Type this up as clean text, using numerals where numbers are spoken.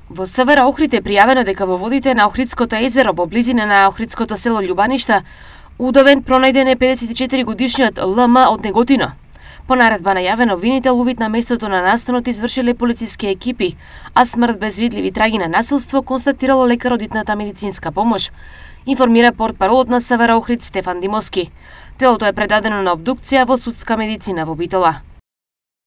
Во Север Охрид е пријавено дека во водите на Охридското езеро во близина на Охридското село Љубаништа удавен пронајден е 54-годишниот ЛМ од Неготино. По наредба најавен обвинител увид на местото на настанот извршиле полициски екипи, а смрт без видливи траги на насилство констатирало лекар од итната медицинска помош, информира портпаролот на Север Охрид Стефан Димовски. Телото е предадено на обдукција во судска медицина во Битола.